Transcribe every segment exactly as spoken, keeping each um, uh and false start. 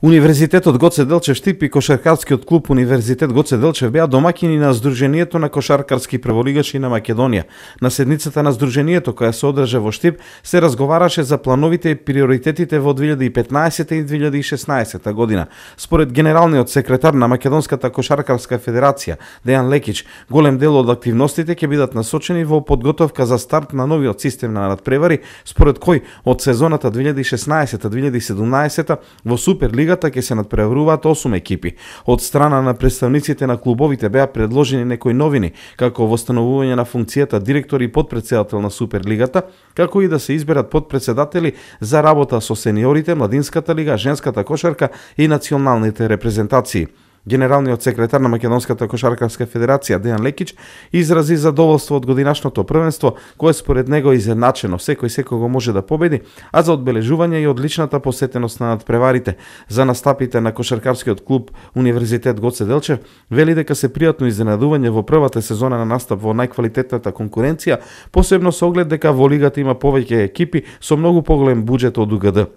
Универзитетот Гоце Делчев Штип и кошаркарскиот клуб Универзитет Гоце Делчев беа домаќини на Сдруженијето на кошаркарски прволигачи на Македонија. На седницата на Сдруженијето, која се одржа во Штип, се разговараше за плановите и приоритетите во две илјади и петнаесета и две илјади и шеснаесета година. Според генералниот секретар на Македонската кошаркарска федерација Дејан Лекич, голем дел од активностите ќе бидат насочени во подготовка за старт на новиот систем на надпревари, според кој од сезоната две илјади и шеснаесета - две илјади и седумнаесета во Суперлигата ќе се надпреваруваат осум екипи. Од страна на представниците на клубовите беа предложени некои новини, како востановување на функцијата директор и подпредседател на Суперлигата, како и да се изберат подпредседатели за работа со сениорите, младинската лига, женската кошарка и националните репрезентации. Генералниот секретар на Македонската кошаркарска федерација Дејан Лекич изрази задоволство од годинашното првенство, кое според него е изедначено, секој секого може да победи, а за одбележување и одличната посетеност на надпреварите за настапите на кошаркарскиот клуб Универзитет Гоце Делчев, вели дека се пријатно изненадување во првата сезона на настап во најквалитетната конкуренција, посебно со оглед дека во лигата има повеќе екипи со многу поголем буџет од УГД.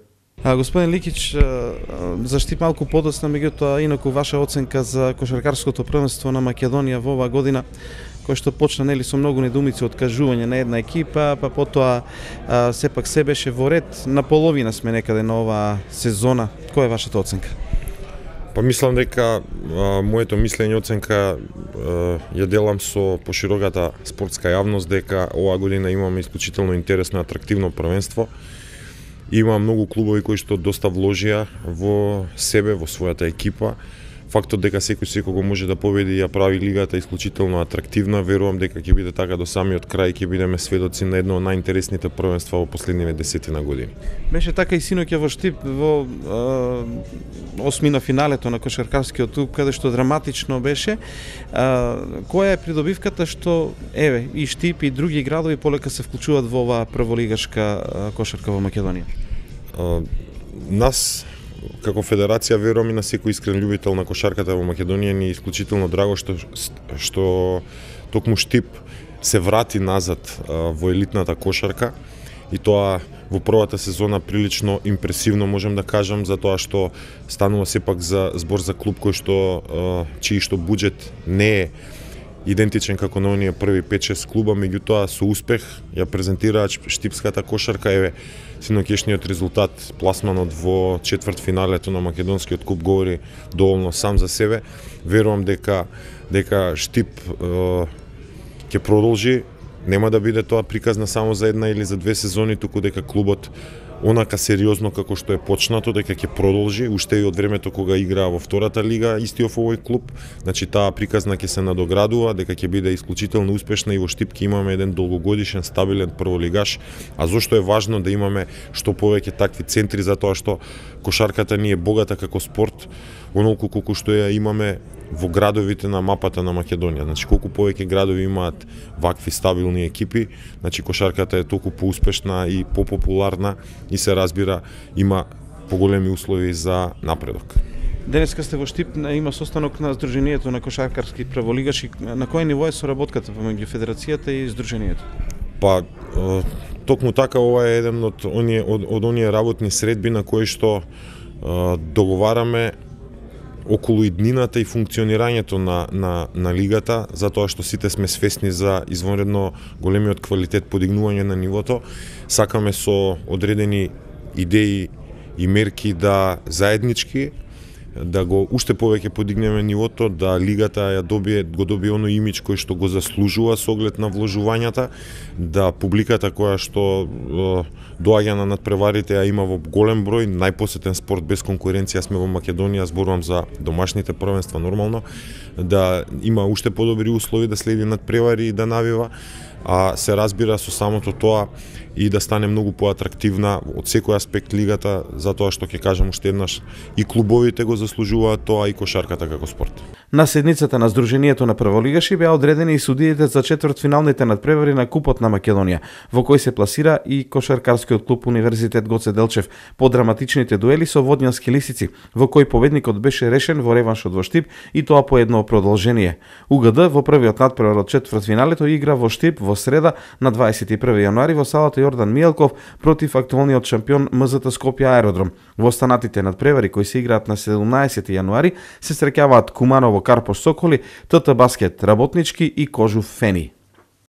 А, господин Ликич, за Штип малку подоцна, меѓутоа инаку ваша оценка за кошаркарското првенство на Македонија во оваа година, кој што почна нели со многу недумици од кажување на една екипа, па потоа а, сепак се беше во ред, на половина сме некаде на оваа сезона. Која е вашата оценка? Па мислам дека а, моето мислење оценка а, ја делам со пошироката спортска јавност дека оваа година имаме исклучително интересно и атрактивно првенство. Има многу клубови кои што доста вложија во себе, во својата екипа. Фактот дека секој секого може да победи и ја прави лигата исклучително атрактивна, верувам дека ќе биде така до самиот крај, ќе бидеме сведоци на едно од најинтересните првенства во последниве десетина години. Беше така и синоќа во Штип во е, осмина финалето на кошаркарскиот клуб, каде што драматично беше. Е, која е придобивката што еве и Штип и други градови полека се вклучуваат во оваа прволигашка кошарка во Македонија? Е, нас како федерација верувам и на секој искрен љубител на кошарката во Македонија ни е исклучително драго што што токму Штип се врати назад а, во елитната кошарка и тоа во првата сезона прилично импресивно можем да кажам, затоа што станува сепак за збор за клуб кој што а, чиј што буџет не е идентичен како на оние први пет-шест клуба, меѓутоа со успех ја презентираат штипската кошарка. Еве синоќешниот резултат, пласманот во четвртфиналето на македонскиот куп говори доволно сам за себе. Верувам дека дека Штип е, ќе продолжи, нема да биде тоа приказна само за една или за две сезони, туку дека клубот онака сериозно како што е почнато, дека ќе продолжи уште и од времето кога играа во втората лига истиот овој клуб. Значи таа приказна ќе се надоградува, дека ќе биде исклучително успешна и во Штип ќе имаме еден долгогодишен стабилен прволигаш. А зошто е важно да имаме што повеќе такви центри, затоа што кошарката ни е богата како спорт, онолку колку што ја имаме во градовите на мапата на Македонија. Значи колку повеќе градови имаат вакви стабилни екипи, значи кошарката е толку поуспешна и попопуларна и се разбира има поголеми услови за напредок. Денеска сте во Штип, има состанок на Сдруженијето на кошаркарски прволигаши. На кој ниво е соработката помеѓу федерацијата и Сдруженијето? Па токму така ова е еден од оние од, од оние работни средби на кои што е, договараме околу иднината и функционирањето на, на, на лигата, затоа што сите сме свесни за извонредно големиот квалитет подигнување на нивото. Сакаме со одредени идеи и мерки да заеднички да го уште повеќе подигнеме нивото, да лигата ја добие, го добие оној имидж кој што го заслужува со оглед на вложувањата, да публиката која што е, доаѓа на надпреварите, а има во голем број, најпосетен спорт без конкуренција сме во Македонија, зборувам за домашните првенства нормално, да има уште подобри услови да следи надпревари и да навива, а се разбира со самото тоа и да стане многу поатрактивна од секој аспект лигата, затоа што ќе кажам уште еднаш и клубовите го заслужуваат тоа и кошарката како спорт. На седницата на Сдруженијето на прволигаши беа одредени и судиите за четвртфиналните надпревари на Купот на Македонија, во кој се пласира и кошаркарскиот клуб Универзитет Гоце Делчев по драматичните дуели со водњански лисици, во кој победникот беше решен во реваншот во Штип и тоа по едно продолжение. УГД во првиот надпревар од четвртфиналето игра во Штип во среда на дваесет и први јануари во салата Јордан Мијелков против актуелниот шампион М З Т Скопје Аеродром. Во останатите надпревари кои се играат на седумнаесети јануари се среќаваат Куманово Карпош Соколи, Т Т Баскет Работнички и Кожув Фени.